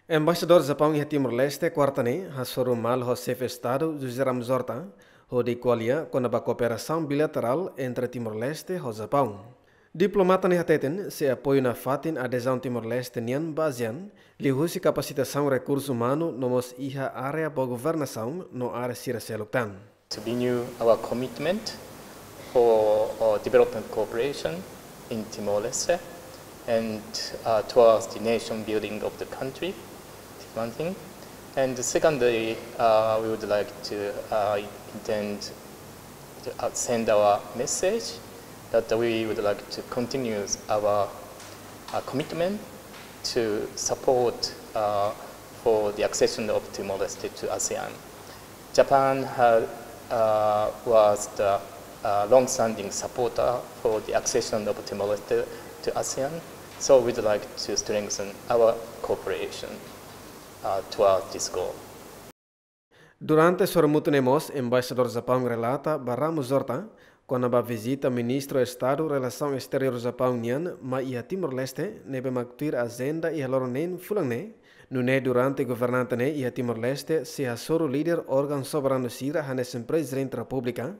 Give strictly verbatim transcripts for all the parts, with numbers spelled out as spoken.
Embaixadór Japaun iha Timor-Leste, kuarta ne'e, hasoru malu ho Xefe Estadu José Ramos-Horta, hodi ko'alia kona-ba kooperasaun bilaterál entre Timor-Leste ho Japaun. Diplomata ne'e hateten sei apoiu nafatin adezaun Timor-Leste nian ba ASEAN, liuhusi kapasitasaun rekursu umanu no mós iha área boa governasaun no área sira seluk tan. To renew our commitment for uh, development cooperation in Timor-Leste and uh, towards the nation building of the country, one thing. And secondly, uh, we would like to uh, intend to uh, send our message that we would like to continue our uh, commitment to support uh, for the accession of Timor-Leste to ASEAN. Japan has, uh, was the uh, long-standing supporter for the accession of Timor-Leste to ASEAN, so we'd like to strengthen our cooperation uh, towards this goal. Durante sorumutu ne'e mós, Embaixadór Japaun relata ba Ramos-Horta kona-ba vizita Ministru Estadu Relasaun Esteriór Japaun nian mai iha Timor-Leste, ne'ebé mak tuir ajenda iha loron neen fulan ne'e, nune'e durante governante ne'e iha Timor-Leste sei hasoru líder órgaun soberanu sira hanesan Prezidente Repúblika,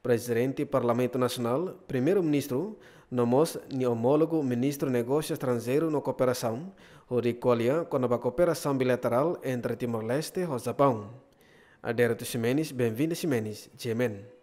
Prezidente Parlamentu Nasionál, Primeiru-Ministru, no mós nia omólogu Ministru Negósiu Estranjeiru no Kooperasaun, hodi ko'alia kona-ba kooperasaun bilaterál entre Timor-Leste ho Japaun. Adérito Ximenes, Benvinda Ximenes, G M N.